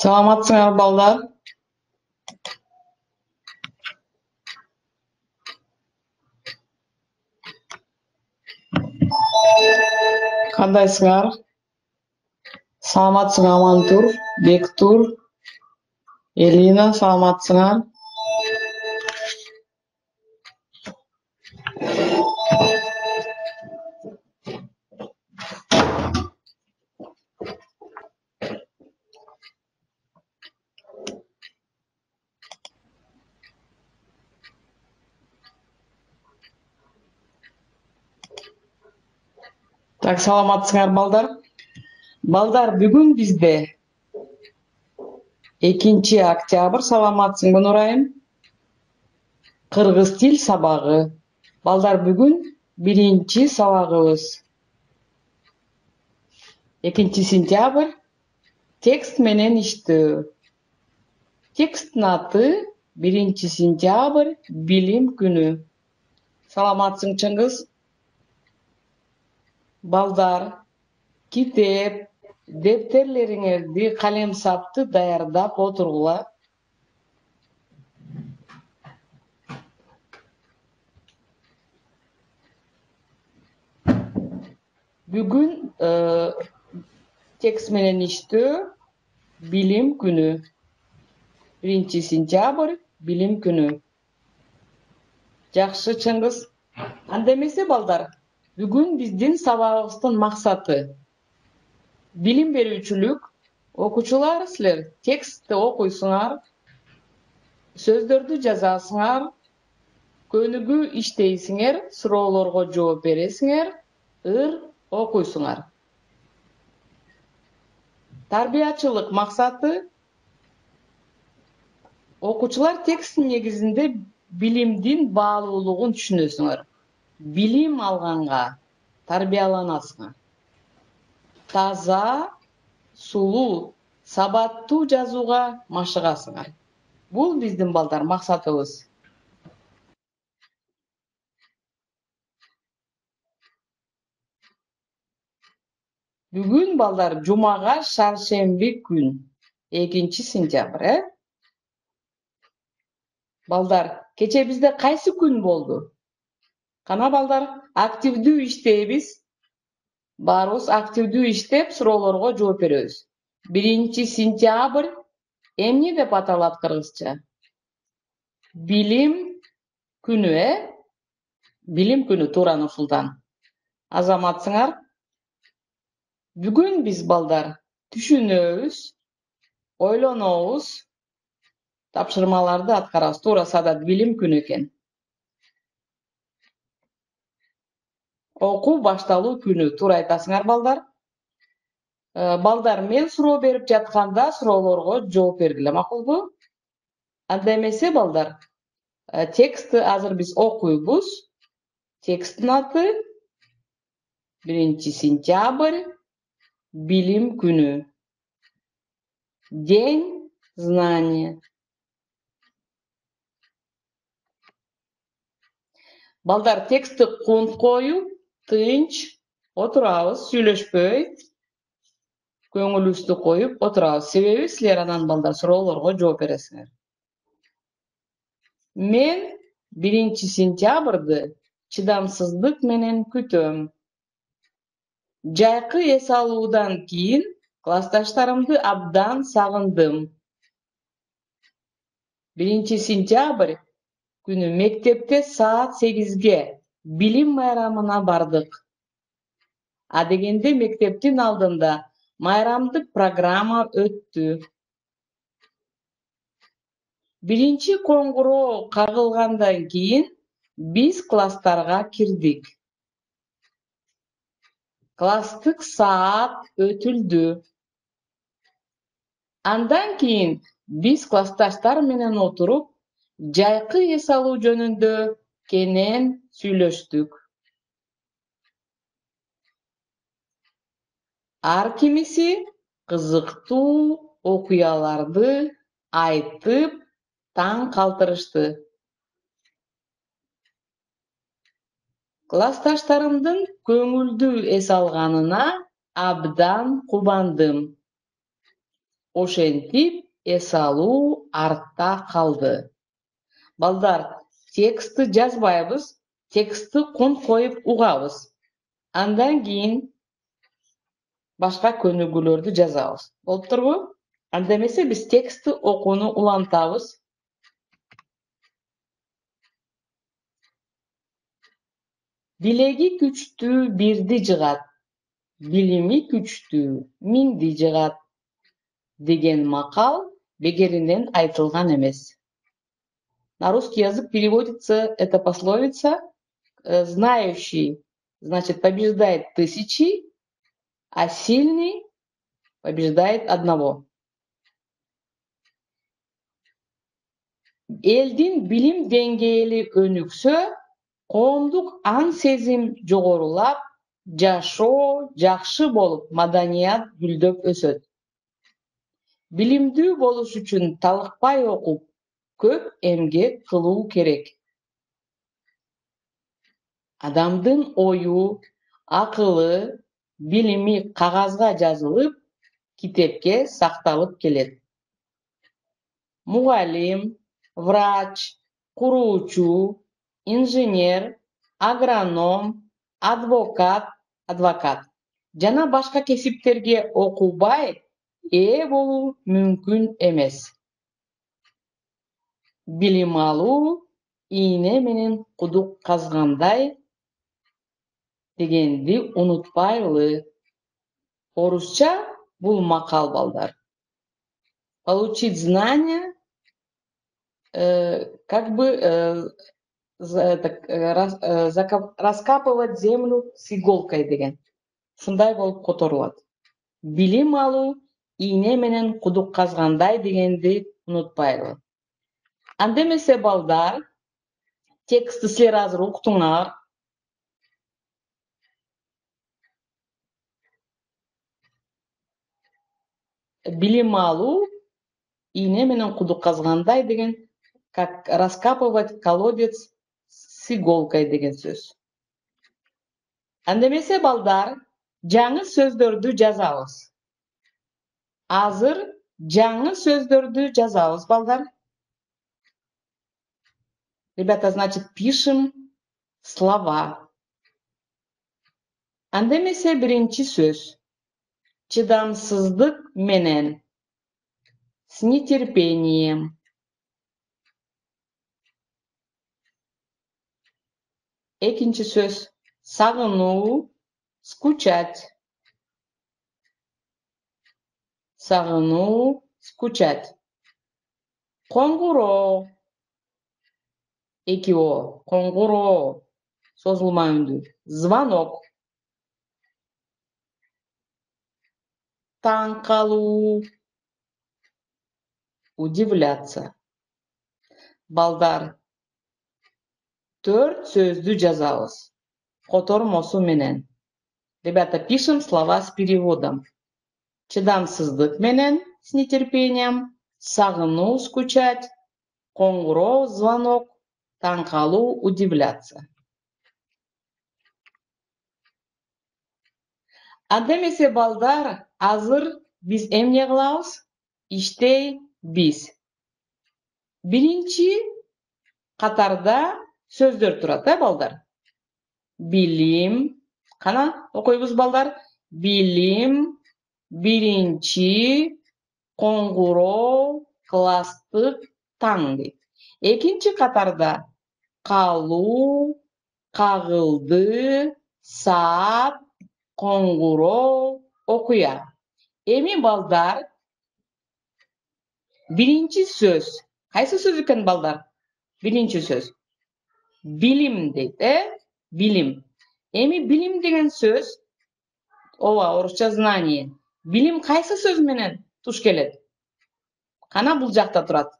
Саламатсыңар балдар. Кандайсыңар? Саламатсың Амантур, Бектур, Элина, саламатсыңар? Так, саламатсыңар балдар. Балдар, бүгүн бизде 2 октябрь, саламатсыңбы Нурайым? Кыргыз тил сабагы. Балдар, бүгүн 1 сабагыбыз. 2 сентябрь текст менен иштөө. Тексттин аты 1 сентябрь билим күнү. Саламатсың Чыңгыз? Балдар, китеп, дептерлериңерди, калем сапты даярдап отургула. Бүгүн текст менен иштөө билим күнү. 1 сентябрь билим күнү. Жакшы Чыңгыз. Анда эмесе балдар, бүгүн биздин сабагыбыздын максаты билим берүүчүлүк. Окуучулар, силер текстти окуйсуңар, сөздөрдү жазасыңар, көнүгүү иштейсиңер, суроолорго жооп бересиңер, окуйсуңар. Тарбиячылык максаты окуучулар тексттин негизинде билимдин баалуулугун түшүнөсүңөр. Билим алганга тарбияланасыңар. Таза, сулуу, сабаттуу жазууга машыгасыңар. Бул биздин балдар максатыбыз. Бүгүн балдар жумага шаршемби күн, 2 сентябрь, Балдар, кече бизде кайсы күн болду? Кана балдар, активдүү иштейбиз. Баарыбыз активдүү иштеп, суроолорго жооп беребиз. 1 сентябрь эмне деп аталат кыргызча? Билим күнү, Билим күнү, туура ушулдан. Азаматсыңар? Бүгүн биз балдар түшүнөбүз, ойлонобуз, тапшырмаларды аткарабыз. Туура садат билим күнү экен. Окуу башталуу күнү. Туура айтасыңар балдар. Балдар, мен суроо берип жатканда суроолорго жооп бергиле, макулбу? Анда эмесе балдар, текстти азыр биз окуйбуз. Тексттин аты 1 сентябрь билим күнү. День знания. Балдар, текстти кунт коюп, тынч отурабыз, сүйлөшпөй, көңүлүбүздү коюп отурабыз. Себеби силер анан балдар суроолорго жооп бересиңер. Мен 1 сентябрды чыдамсыздык менен күтөм. Жайкы эс алуудан кийин классташтарымды абдан сагындым. 1 сентябрь күнү мектепте саат 8-ге билим майрамына бардык. Адегенде мектептин алдында майрамдык программа өттү. 1 коңгуроо кагылгандан кийин биз класстарга кирдик. Класстык саат өтүлдү. Андан кийин биз классташтар менен отуруп, жайкы эс алуу жөнүндө кенен сүйлөштүк. Ар кимиси кызыктуу окуяларды айтып, таң калтырышты. Классташтарымдын көңүлдүү эс алганына абдан кубандым. Ошентип эс алуу артта калды. Балдар, текстти жазбайбыз, текстти кон коюп угабыз. Андан кийин башка көнүгүүлөрдү жазабыз. Болуп турбу? Анда эмесе биз текстти окууну улантабыз. Билеги күчтүү бирди жыгат, билими күчтүү миңди жыгат деген макал бекеринен айтылган эмес. На русский язык переводится эта пословица: знающий, значит, побеждает тысячи, а сильный побеждает одного. Элдин билим деңгээли өнүксө, коомдук аң сезим жогорулап, жашоо жакшы болуп, маданият гүлдөп өсөт. Билимдүү болуш үчүн талыкпай окуп, көп эмгек кылуу керек. Адамдын ою, акылы, билими кагазга жазылып, китепке сакталып келет. Мугалим, врач, куруучу, инженер, агроном, адвокат жана башка кесиптерге окубай ээ болуу мүмкүн эмес. Билим алуу ийне менен кудук казгандай дегенди унутпайлы. Орусча бул макал, балдар. Получить знания, раскапывать землю с иголкой деген. Ушундай болуп которулат. Билим алуу ийне менен кудук казгандай дегенди унутпайлы. Анда эмесе, балдар, текстти силер азыр уктуңар. Билим алуу ийне менен кудук казгандай деген, как раскапывать колодец с иголкой деген сөз. Анда эмесе, балдар, жаңы сөздөрдү жазабыз. Азыр жаңы сөздөрдү жазабыз, балдар. Ребята, значит, пишем слова. Анда эмесе, биринчи сөз. Чыдамсыздык менен. С нетерпением. Экинчи сөз. Сагынуу, скучать. Сагынуу, скучать. Коңгуроо. Эки о. Коңгуроо. Созулма үндүү. Звонок. Таң калуу. Удивляться. Балдар, 4 сөздү жазабыз. Котормосу менен. Ребята, пишем слова с переводом. Чыдамсыздык менен, с нетерпением. Сагынуу, скучать. Коңгуроо, звонок. Таң калуу, удивляться. Анда эмесе, балдар, азыр биз эмне кылабыз? Иштейбиз. Биринчи катарда сөздөр турат, балдар? Билим. Кана окуйбуз, балдар? Билим, биринчи, коңгуроо, класстык, таң дейт. Экинчи катарда калуу, кагылды, саат, коңгуроо, окуя. Эми, балдар, биринчи сөз. Кайсы сөз экен, балдар? Биринчи сөз. Билим дейт, Билим. Эми билим деген сөз, ооба, орусча знание. Билим кайсы сөз менен туш келет? Кана бул жакта турат.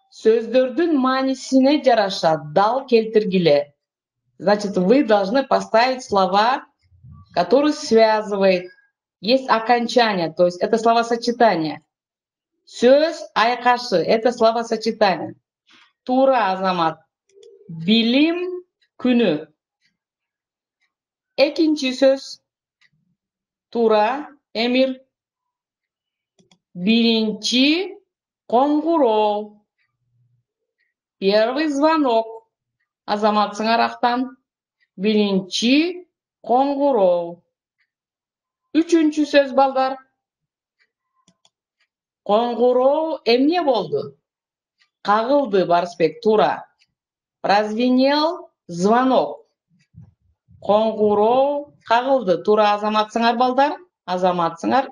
Сөздөрдүн маанисине жараша дал келтиргиле. Значит, вы должны поставить слова, которые связывают. Есть окончание, то есть это словосочетание. Сөз айкашы, это словосочетание. Тура, Азамат. Билим күнү. Экинчи сөз. Туура, Эмир. Биринчи коңгуроо. Первый звонок. Азаматсыңар актан. Биринчи коңгуроо. Үчүнчү сөз балдар. Коңгуроо эмне болду? Кагылды, Барысбек, туура. Прозвенел звонок. Коңгуроо кагылды, туура. Азаматсыңар балдар. Азаматсыңар.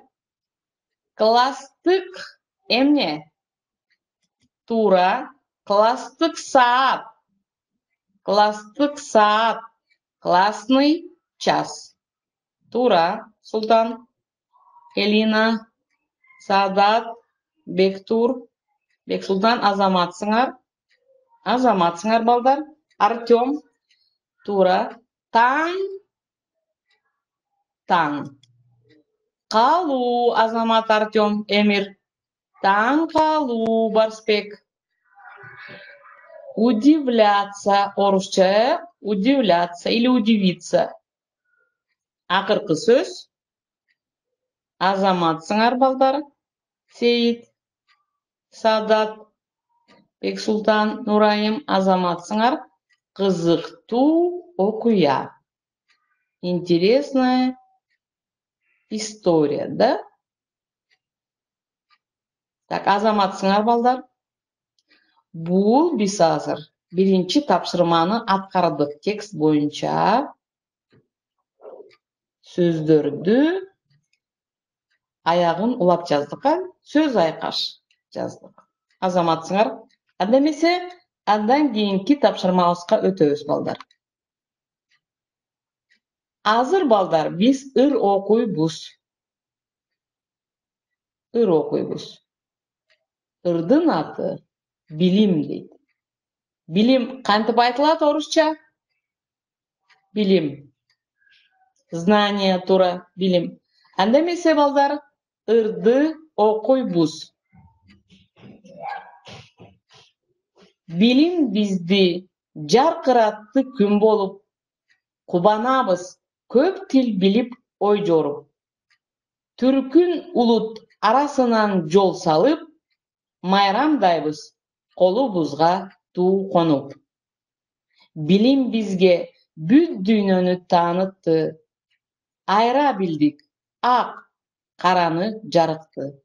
Класстык эмне? Туура. Класстык саат. Класстык саат. Классный час. Туура. Султан, Элина, Саадат, Бектур, Бексултан. Азаматсыңар. Азаматсыңар балдар. Артем. Туура. Таң. Таң. Калуу. Азамат, Артем, Эмир. Таң калуу, Барысбек. Удивляться. Орусча удивляться или удивиться. Акыркы сөз. Азаматсыңар балдар. Сейит, Саадат, Бексултан, Нурайым. Азаматсыңар. Кызыктуу окуя. Интересная история, да? Так, азаматсыңар балдар. Бул биз азыр биринчи тапшырманы аткардык. Текст боюнча сөздөрдү аягын улап жаздык, сөз айкаш жаздык. Азаматсыңар. Анда эмесе андан кийинки тапшырмабызга өтөбүз балдар. Азыр балдар биз ыр окуйбуз. Ыр окуйбуз. Ырдын аты билим дейт. Билим кантип айтылат орусча? Билим. Знание, туура, билим. Анда эмесе балдар, ырды окуйбуз. Билим бизди жаркыратты күн болуп, кубанабыз көп тил билип ой жоруп. Түркүн улут арасынан жол салып, майрамдайбыз колубузга туу конуп. Билим бизге бүт дүйнөнү таанытты, айра билдик ак караны жарыкты.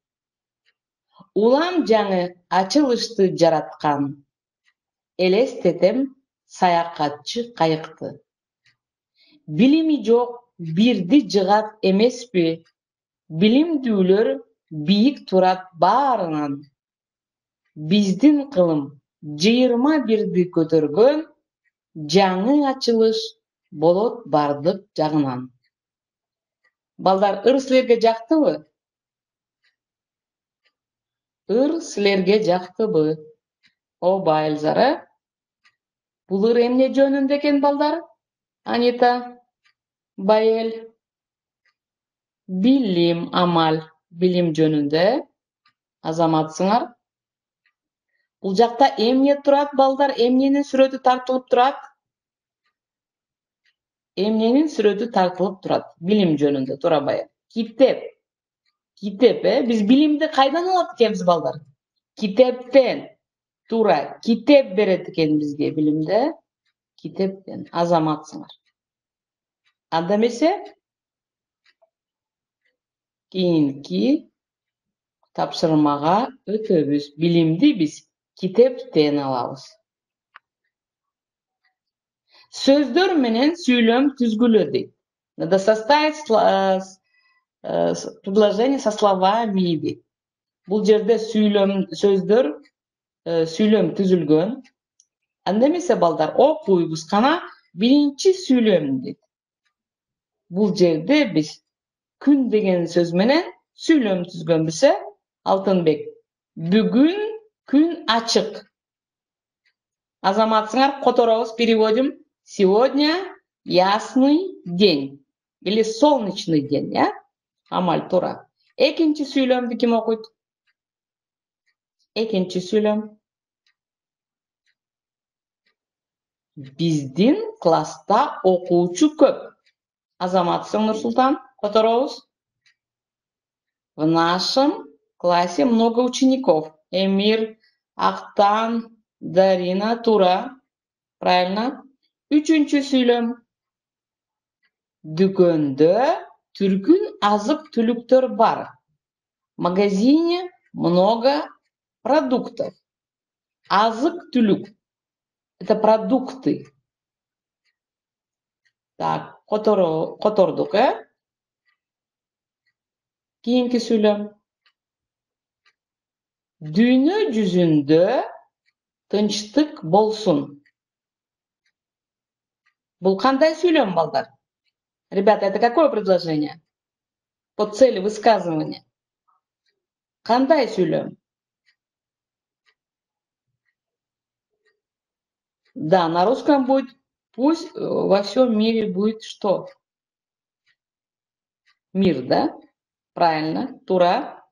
Улам жаңы ачылышты жараткан, элестетем саякатчы кайыкты. Билими жок бирди жыгат эмеспи, билимдүүлөр бийик турат баарынан. Биздин кылым 21 көтөргөн, жаңы ачылыш болот бардык жагынан. Балдар, ыр силерге жактыбы? Ыр силерге жактыбы? Оба, Эльзара. Бул ыр эмне жөнүндө экен балдар? Анита, Байел. Билим, амал, билим жөнүндө. Азаматсыңар. Бул жакта эмне турат балдар? Эмненин сүрөтү тартылып турат? Эмненин сүрөтү тартылып турат? Билим жөнүндө, туура Байел. Китеп. Китеп, биз билимди кайдан алат экенбиз балдар? Китептен. Туура, китеп берет экен бизге билимди. Китептен. Азаматсыңар. Анда эмесе кийинки тапшырмага өтөбүз. Билимди биз китептен алабыз. Сөздөр менен сүйлөм түзгүлө дейт. Надо составить предложение со словами дейт. Бул жерде сөздөр сүйлөм түзүлгөн. Анда эмесе балдар окуйбуз кана биринчи сүйлөм дейт. Бул жерде биз күн деген сөз менен сүйлөм түзгөнбүз. Алтынбек. Бүгүн күн ачык. Азаматсыңар, которобуз переводим. Сегодня ясный день. Или солнечный день, я? Амаль, туура. Экинчи сүйлөмдү ким окуйт? Экинчи сүйлөм. Биздин класста окуучу көп. Азаматсың, Нурсултан. Которобуз. В нашем классе много учеников. Эмир, Актан, Дарина, Тура. Правильно. Үчүнчү сүйлөм. Дүкөндө түркүн азык-түлүктөр бар. В магазине много продуктов. Азык-түлүк. Это продукты. Так, котордук, Кийинки сүйлөм. Дүйнө жүзүндө тынчтык болсун. Бул кандай сүйлөм, балдар? Ребята, это какое предложение? По цели высказывания. Кандай сүйлөм? Да, на русском будет пусть во всем мире будет что? Мир, да? Правильно. Тура.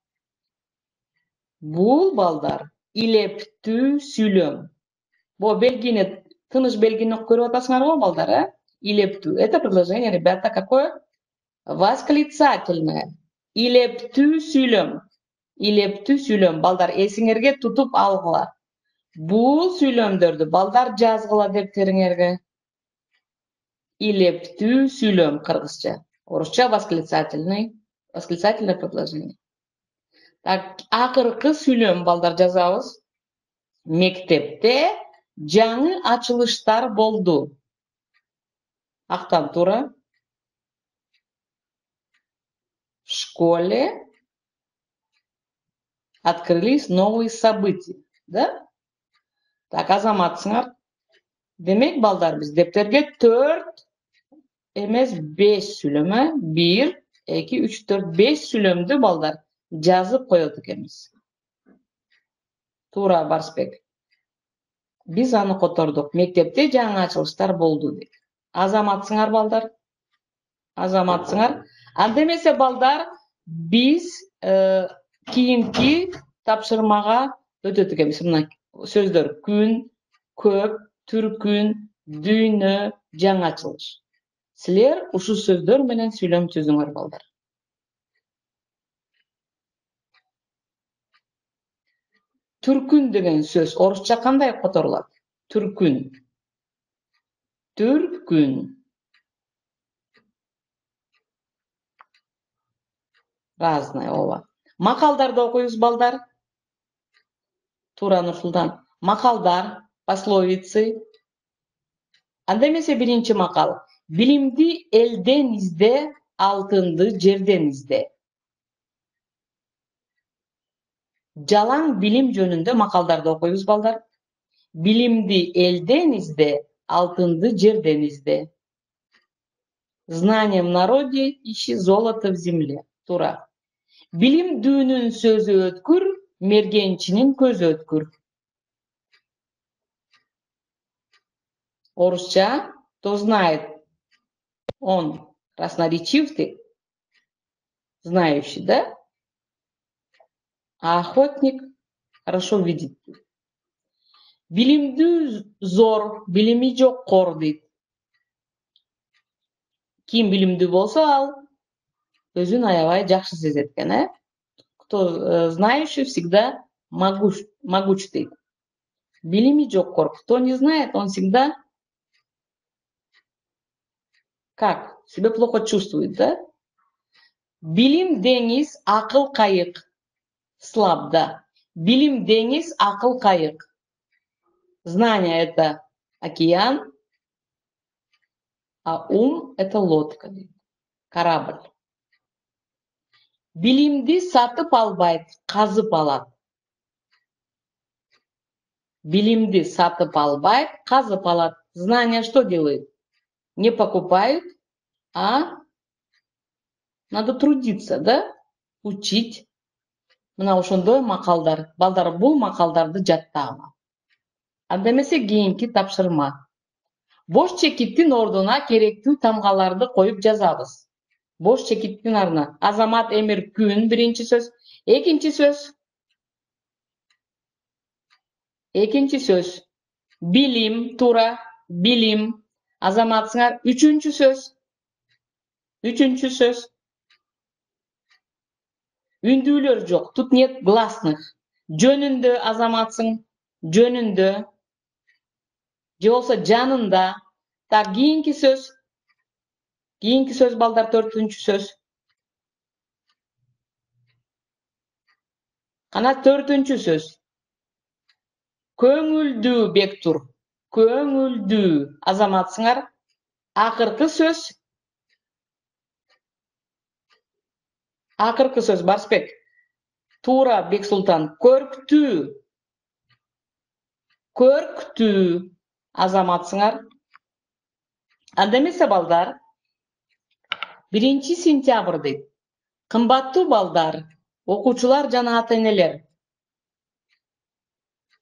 Бул, балдар, илептүү сүйлөм. Бул белгини, тыныш белгини көрүп атасыңарбы, балдар, Илептүү. Это предложение, ребята, какое? Восклицательное. Илептүү сүйлөм. Илептүү сүйлөм. Балдар, эсиңерге тутуп алгыла. Бул сүйлөмдөрдү балдар жазгыла дептериңерге. Илептүү сүйлөм кыргызча. Орусча восклицательное предложение. Так, акыркы сүйлөм, балдар, жазабыз. Мектепте жаңы ачылыштар болду. Актан, Тура. В школе открылись новые события. Да? Так, азаматсыңар. Демек, балдар, биз дептерге 4 эмес 5 сүйлөм, 1, 2, 3, 4, 5 сүйлөмдү, балдар, жазып коет экенбиз. Тура, Барсбек. Биз аны котордук. Мектепте жаңы ачылыштар болду деп. Азаматсыңар, балдар. Азаматсыңар. Анда эмесе, балдар, биз кийинки тапшырмага өтөт экенбиз. Мына сөздөр: күн, көп, түркүн, дүйнө, жаңы ачылыш. Силер ушул сөздөр менен сүйлөм түзүңөр, балдар. Түркүн деген сөз орусча кандай которулат? Түркүн. Түркүн. Разное, ооба. Макалдарды окуйбуз, балдар. Тура, Нурсултан. Макалдар, пословицы. Анда эмесе биринчи макал. Билимди элден изде, алтынды жерден изде. Жалаң билим жөнүндө макалдарды окуйбуз, балдар. Билимди элден изде, алтынды жерден изде. Знание в народе, ищи золото в земле. Тура. Билимдүүнүн сөзү өткүр, мергенчинин көзү өткүр. Орусча, кто знает, он красноречив ты, знающий, да? А охотник хорошо видит. Билимдүү зор, билими жоккор дейт. Ким билимдүү болсо, ал өзүн аябай жакшы сезет экен, Кто знающий всегда могуч дейт. Билими жоккор. Кто не знает, он всегда как? Себя плохо чувствует, да? Билим деңиз, акыл кайык. Слаб, да. Билим деңиз, акыл кайык. Знание — это океан, а ум — это лодка, корабль. Билимди сатып албайт, казып алат. Билимди сатып албайт, казып алат. Знание что делает? Не покупают, а надо трудиться, да? Учить. Мына ошондой макалдар. Балдар, бул макалдарды жаттагыла. Анда эмесе кийинки тапшырма. Бош чекиттин ордуна керектүү тамгаларды коюп жазабыз. Бош чекиттин ордуна. Азамат, Эмир, күн биринчи сөз. Экинчи сөз. Экинчи сөз. Билим, Тура, билим. Азаматсыңар. Үчүнчү сөз. Үчүнчү сөз. Үндүүлөр жок. Тут нет гласных. Жөнүндө азаматсың. Жөнүндө. Же болсо жанында. Так, кийинки сөз. Кийинки сөз балдар, 4-түнчү сөз. Кана 4-түнчү сөз. Көңүлдүү бектур. Көңүлдүү азаматсыңар. Акыркы сөз. Акыркы сөз Барсбек. Туура, Бексултан. Көрктүү. Көрктүү азаматсыңар. Анда эмесе балдар, 1-сентябрь дейт. Кымбаттуу балдар, окуучулар жана ата-энелер.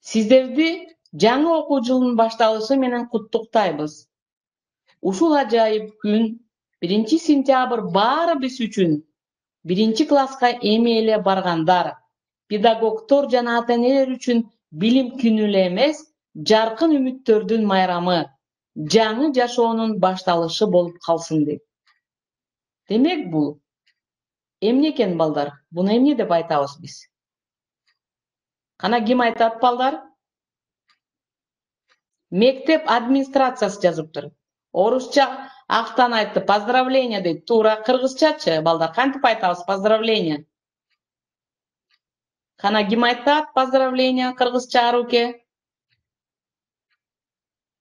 Сиздерди жаңы окуу жылынын башталышы менен куттуктайбыз. Ушул ажайып күн 1-сентябрь баарыбыз үчүн 1-класска эми эле баргандар, педагогдор жана ата-энелер үчүн билим күнү эле эмес, жаркын үмүттөрдүн майрамы, жаңы жашоонун башталышы болуп калсын дейт. Демек бул эмне экен балдар? Буну эмне деп айтабыз биз? Кана ким айтат балдар? Мектеп администрациясы жазыптыр. Орусча актан айтты, поздравление дейт. Туура. Кыргызчачы балдар, кантип айтабыз поздравление? Кана ким айтат поздравление кыргызча, руке?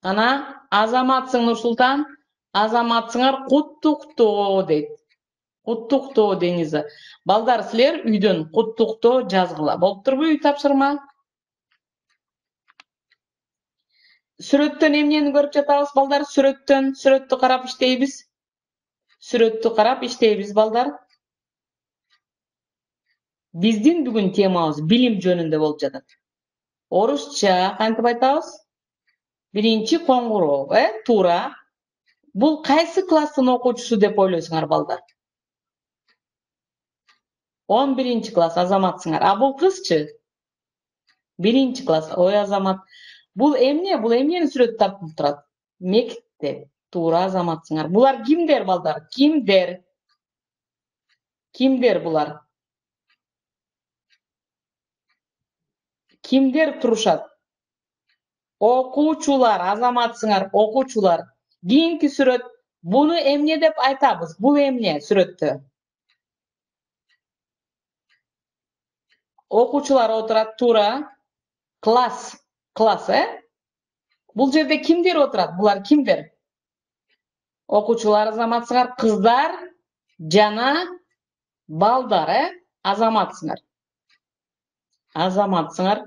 Кана азаматсың Нурсултан, азаматсыңар куттуктоо дейт. Куттуктоо деңиз. Балдар, силер үйдөн куттуктоо жазгыла. Болуптурбу үй тапшырма? Сүрөттөн эмнени көрүп жатабыз балдар? Сүрөттү карап иштейбиз. Сүрөттү карап иштейбиз балдар. Биздин бүгүн темабыз билим жөнүндө болуп жатат. Орусча кантип айтабыз? 1-чи коңгуроо, туура. Бул кайсы класстын окуучусу деп ойлойсуңар балдар? 11-чи класс азаматсыңар. А бул кызчы? 1-чи класс. Ой, азамат. Бул эмне? Бул эмнени сүрөт тартып турат? Мектеп. Туура, азаматсыңар. Булар кимдер балдар? Кимдер? Кимдер булар? Кимдер турушат? Окуучулар, азаматсыңар, окуучулар. Кийинки сүрөт. Буну эмне деп айтабыз? Бул эмне сүрөттө? Окуучулар отурат, туура. Класс. Класс, Бул жерде кимдер отурат? Булар кимдер? Окуучулар, азаматсыңар, кыздар жана балдар, азаматсыңар. Азаматсыңар.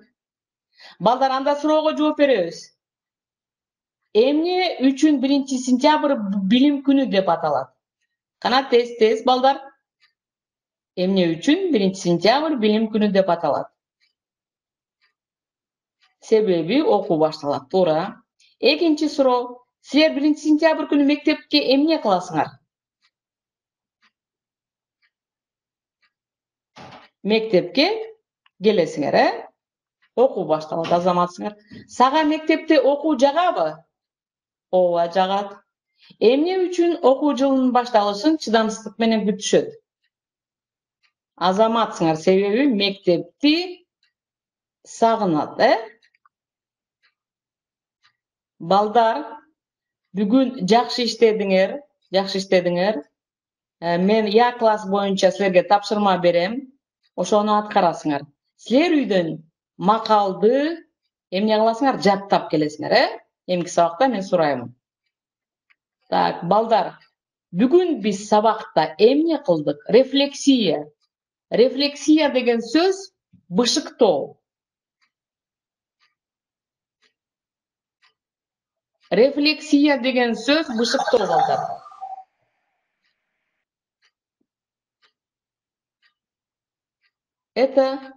Балдар, анда суроого жооп беребиз. Эмне үчүн 1-сентябрь билим күнү деп аталат? Кана тез балдар. Эмне үчүн 1-сентябрь билим күнү деп аталат? Себеби окуу башталат, туура. Экинчи суроо. Силер 1-сентябрь күнү мектепке эмне кыласыңар? Мектепке келесиңер, Окуу башталат, азаматсыңар. Сага мектепте окуу жагабы? Ооба, жагат. Эмне үчүн окуу жылынын башталышын чыдамсыздык менен күтүшөт? Азаматсыңар, себеби мектепти сагынат, Балдар, бүгүн жакшы иштедиңер. Мен класс боюнча силерге тапшырма берем. Ошону аткарасыңар. Силер үйдөн макалды эмне кыласыңар? Жаттап келесиңер, Эмки сабакта мен сурайм. Так, балдар, бүгүн биз сабакта эмне кылдык? Рефлексия. Рефлексия деген сөз бышыктоо. Рефлексия деген сөз бышыктоо, балдар. Это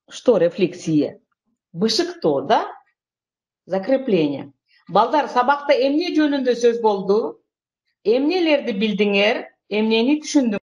что рефлексия? Бышыктоо, да? Закрепление. Балдар, сабакта эмне жөнүндө сөз болду? Эмнелерди билдиңер? Эмнени түшүндүңөр?